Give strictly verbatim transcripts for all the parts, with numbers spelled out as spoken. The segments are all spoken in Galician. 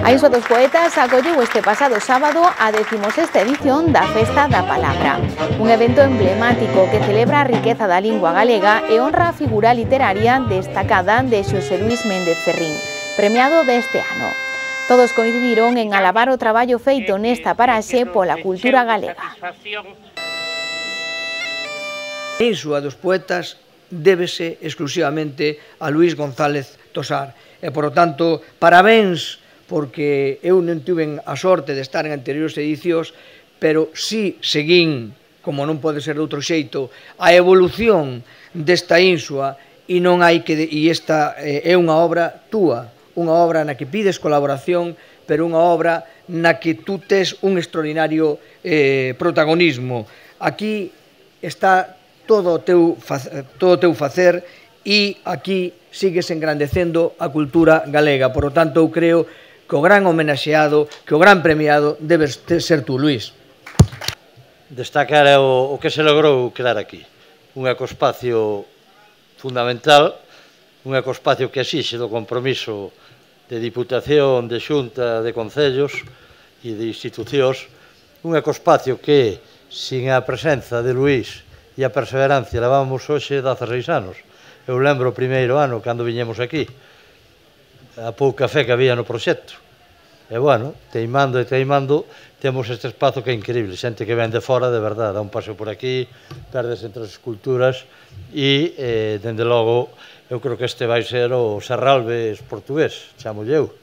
A Insua dos Poetas acolleu este pasado sábado a decimosexta edición da Festa da Palabra, un evento emblemático que celebra a riqueza da lingua galega e honra a figura literaria destacada de Xosé Luís Méndez Ferrín, premiado deste ano. Todos coincidiron en alabar o traballo feito nesta paraxe pola cultura galega. A Insua dos Poetas débese exclusivamente a Luís González Tosar e, por tanto, parabéns, porque eu non tuven a sorte de estar en anteriores edicións, pero sí seguín, como non pode ser de outro xeito, a evolución desta Insua, e non hai que, e esta é unha obra túa, unha obra na que pides colaboración, pero unha obra na que tú tes un extraordinario eh, protagonismo. Aquí está todo o teu, todo o teu facer e aquí sigues engrandecendo a cultura galega. Por lo tanto, eu creo que o gran homenaxeado, que o gran premiado debes ser tú, Luís. Destacar o, o que se logrou crear aquí. Un ecospacio fundamental, un ecospacio que exixe do compromiso de Diputación, de Xunta, de Concellos e de institucións, un ecospacio que, sin a presenza de Luís e a perseverancia, levamos hoxe dezaseis anos. Eu lembro o primeiro ano, cando viñemos aquí, a pouca fe que había no proxecto. E, bueno, teimando e teimando, temos este espazo que é increíble. Xente que ven de fora, de verdade, dá un paseo por aquí, perdes entre as esculturas e, eh, dende logo, eu creo que este vai ser o Serralves portugués, chamo eu.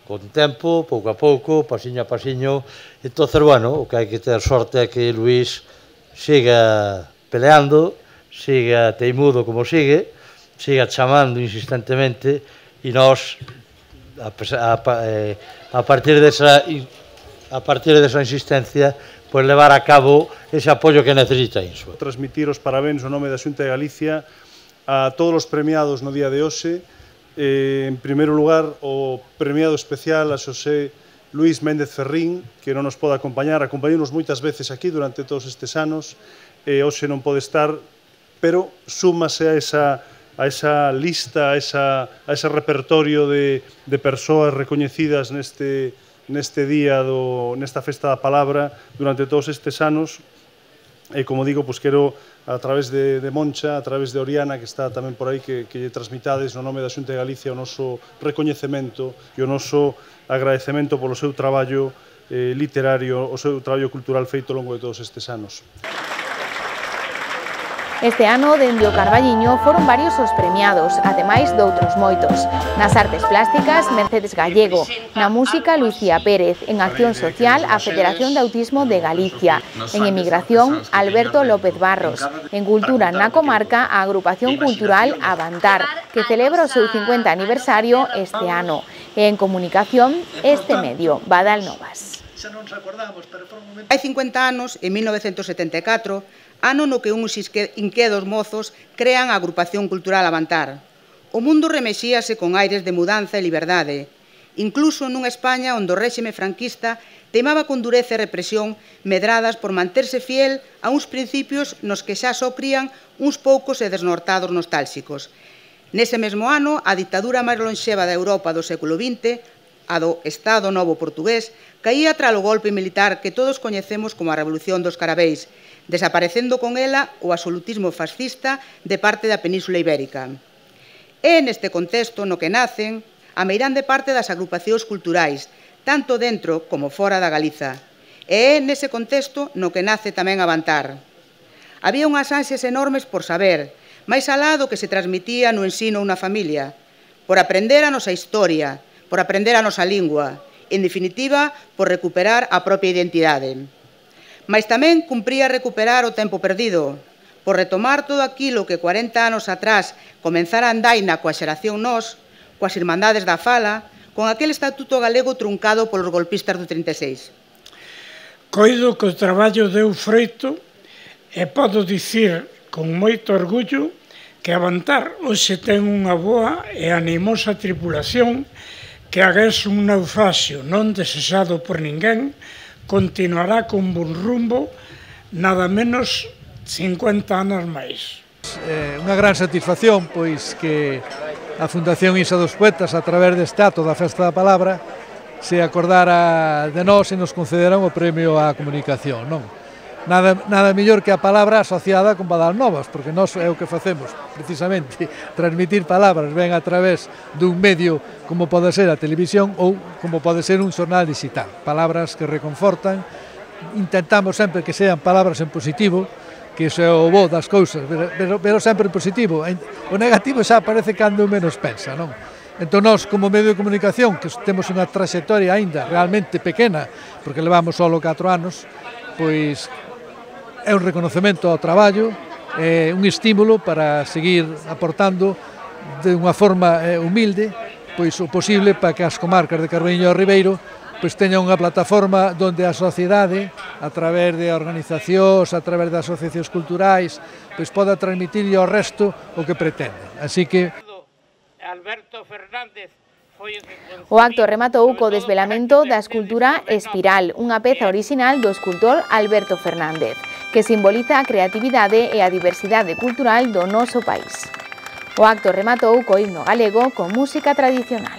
Con tempo, pouco a pouco, pasiño a pasiño. Entón, bueno, o que hai que ter sorte é que Luís siga peleando, siga teimudo como sigue, siga chamando insistentemente e nós, a, a, a partir desa a partir desa insistencia, pois levar a cabo ese apoio que necesita Insua. Transmitir os parabéns no nome da Xunta de Galicia a todos os premiados no día de hoxe. Eh, en primeiro lugar, o premiado especial a Xosé Luís Méndez Ferrín, que non nos pode acompañar, acompañounos moitas veces aquí durante todos estes anos, e hoxe non pode estar, pero súmase a esa a esa lista, a, esa, a ese repertorio de, de persoas recoñecidas neste, neste día, do, nesta Festa da Palabra, durante todos estes anos. E, como digo, pues, quero, a través de, de Moncha, a través de Oriana, que está tamén por aí, que, que lle transmitades no nome da Xunta de Galicia o noso recoñecemento e o noso agradecemento polo seu traballo eh, literario, o seu traballo cultural feito ao longo de todos estes anos. Este ano, dende o Carballiño, foron varios os premiados, ademais doutros moitos. Nas artes plásticas, Mercedes Gallego. Na música, Lucía Pérez. En acción social, a Federación de Autismo de Galicia. En emigración, Alberto López Barros. En cultura na comarca, a Agrupación Cultural Avantar, que celebra o seu cincuenta aniversario este ano. E en comunicación, este medio, Badal Novas. Hai cincuenta anos, en mil novecentos setenta e catro, ano no que uns inquedos mozos crean a Agrupación Cultural Avantar. O mundo remexíase con aires de mudanza e liberdade, incluso nunha España onde o réxime franquista teimaba con dureza e represión medradas por manterse fiel a uns principios nos que xa só crían uns poucos e desnortados nostálxicos. Nese mesmo ano, a dictadura máis lonxeva da Europa do século vinte, a do Estado Novo portugués, caía tras o golpe militar que todos coñecemos como a Revolución dos Carabeis, desaparecendo con ela o absolutismo fascista de parte da Península Ibérica. É neste contexto no que nacen a meirande parte das agrupacións culturais, tanto dentro como fora da Galiza. E é nese contexto no que nace tamén Avantar. Había unhas ansias enormes por saber, máis alá do que se transmitía no ensino unha familia, por aprender a nosa historia, por aprender a nosa lingua, en definitiva, por recuperar a propia identidade. Mais tamén cumpría recuperar o tempo perdido, por retomar todo aquilo que cuarenta anos atrás comenzara a andaina coa xeración nós, coas Irmandades da Fala, con aquel estatuto galego truncado polos golpistas do trinta e seis. Coido que o traballo deu froito e podo dicir con moito orgullo que Avantar hoxe ten unha boa e animosa tripulación que agás un naufraxio non desexado por ninguén continuará con bon rumbo nada menos cincuenta anos máis. É unha gran satisfacción pois que a Fundación Insua dos Poetas, a través deste acto da Festa da Palabra, se acordara de nós e nos concederan o premio á comunicación, non? Nada, nada mellor que a palabra asociada con Badal Novas, porque nós é o que facemos, precisamente, transmitir palabras ben a través dun medio como pode ser a televisión ou como pode ser un xornal digital. Palabras que reconfortan, intentamos sempre que sean palabras en positivo, que iso é o bo das cousas, pero, pero, pero sempre en positivo. O negativo xa parece cando menos pensa, non? Entón, nós, como medio de comunicación, que temos unha trayectoria aínda realmente pequena, porque levamos só catro anos, pois é un reconocemento ao traballo, é un estímulo para seguir aportando de unha forma humilde pois o posible para que as comarcas de Carballiño e Ribeiro pois teñan unha plataforma onde a sociedade, a través de organizacións, a través de asociacións culturais, pois poda transmitir ao resto o que pretende. Así que Alberto Fernández. O acto rematou co desvelamento da escultura Espiral, unha peza orixinal do escultor Alberto Fernández, que simboliza a creatividade e a diversidade cultural do noso país. O acto rematou co himno galego con música tradicional.